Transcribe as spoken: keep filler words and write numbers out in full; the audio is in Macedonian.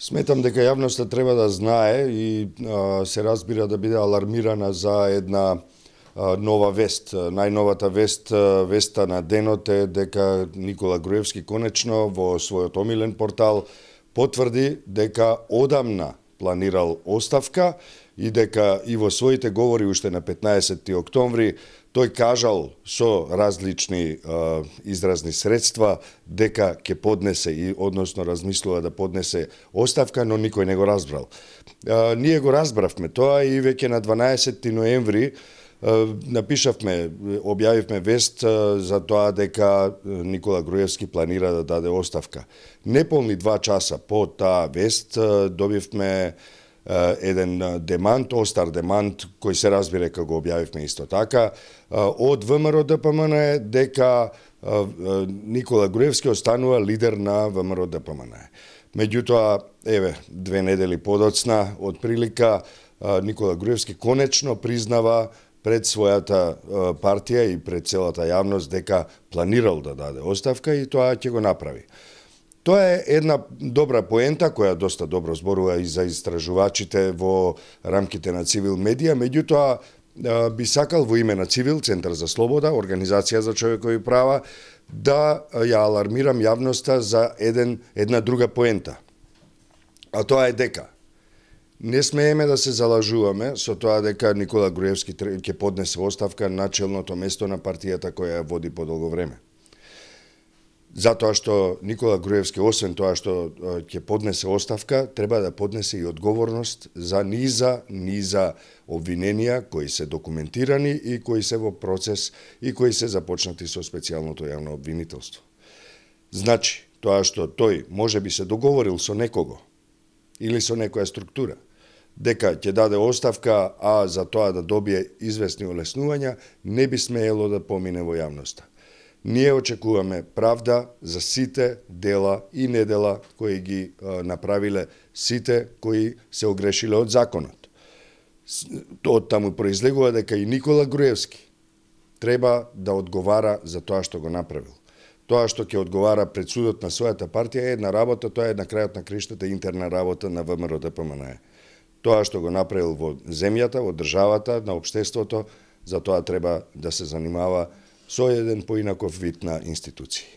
Сметам дека јавноста треба да знае и а, се разбира да биде алармирана за една а, нова вест. Најновата вест, веста на денот е дека Никола Груевски конечно во својот омилен портал потврди дека одамна планирал оставка и дека и во своите говори уште на петнаесетти октомври тој кажал со различни а, изразни средства дека ќе поднесе и односно размислува да поднесе оставка, но никој не го разбрал. А, ние го разбравме тоа и веќе на дванаесетти ноември а, напишавме, објавивме вест а, за тоа дека Никола Груевски планира да даде оставка. Неполни два часа по таа вест а, добивме еден демант, остар демант, кој се разбира дека го објавивме исто така, од ВМРО Д П М Н дека Никола Груевски останува лидер на ВМРО Д П М Н. Меѓутоа, еве, две недели подоцна, од прилика, Никола Груевски конечно признава пред својата партија и пред целата јавност дека планирал да даде оставка и тоа ќе го направи. Тоа е една добра поента која доста добро зборува и за истражувачите во рамките на Цивил медија, меѓутоа би сакал во име на Цивил, Центар за слобода, Организација за човекови права, да ја алармирам јавноста за еден, една друга поента. А тоа е дека не смееме да се залажуваме со тоа дека Никола Груевски ќе поднесе оставка на челното место на партијата која ја води подолго време. Затоа што Никола Груевски, освен тоа што ќе поднесе оставка, треба да поднесе и одговорност за низа, низа обвиненија кои се документирани и кои се во процес и кои се започнати со специјалното јавно обвинителство. Значи, тоа што тој може би се договорил со некого или со некоја структура, дека ќе даде оставка, а за тоа да добие известни олеснувања, не би смеело да помине во јавноста. Ние очекуваме правда за сите дела и недела кои ги а, направиле сите кои се огрешиле од законот. Од таму произлегува дека и Никола Груевски треба да одговара за тоа што го направил. Тоа што ќе одговара пред судот на својата партија е една работа, тоа е на крајот на криштата интерна работа на ВМРО Д П М Н. Тоа што го направил во земјата, во државата, на општеството, за тоа треба да се занимава со еден поинаков вид на институции.